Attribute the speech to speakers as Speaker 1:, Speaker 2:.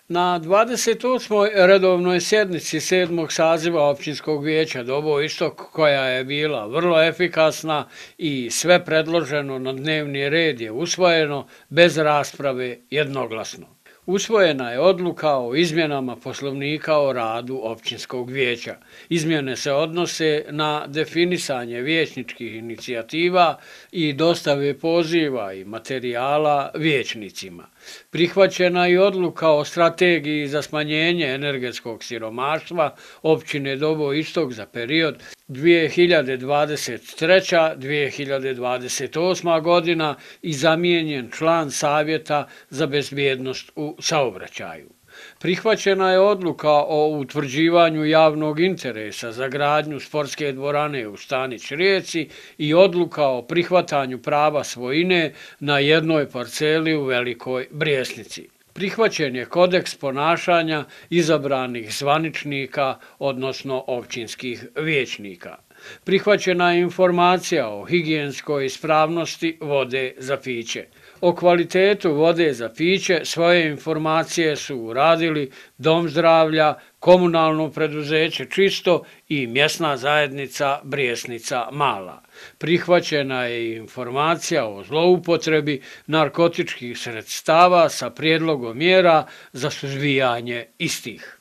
Speaker 1: Na 28. redovnoj sjednici 7. saziva Općinskog vijeća Dobo Istok, koja je bila vrlo efikasna i sve predloženo na dnevni red je usvojeno bez rasprave jednoglasno. Usvojena je odluka o izmjenama Poslovnika o radu Općinskog vijeća. Izmjene se odnose na definisanje vijećničkih inicijativa i dostave poziva i materijala vijećnicima. Prihvaćena je odluka o strategiji za smanjenje energetskog siromaštva općine Dobo Istok za period 2023-2028. godina i zamijenjen član Savjeta za bezbjednost u saobraćaju. Prihvaćena je odluka o utvrđivanju javnog interesa za gradnju sportske dvorane u Stanić Rijeci i odluka o prihvatanju prava svojine na jednoj parceli u Velikoj Brijesnici. Prihvaćen je kodeks ponašanja izabranih zvaničnika, odnosno općinskih vijećnika. Prihvaćena je informacija o higijenskoj ispravnosti vode za piće. O kvalitetu vode za piće svoje informacije su uradili Dom zdravlja, komunalno preduzeće Čisto i mjesna zajednica Brijesnica Mala. Prihvaćena je i informacija o zloupotrebi narkotičkih sredstava sa prijedlogom mjera za suzbijanje istih.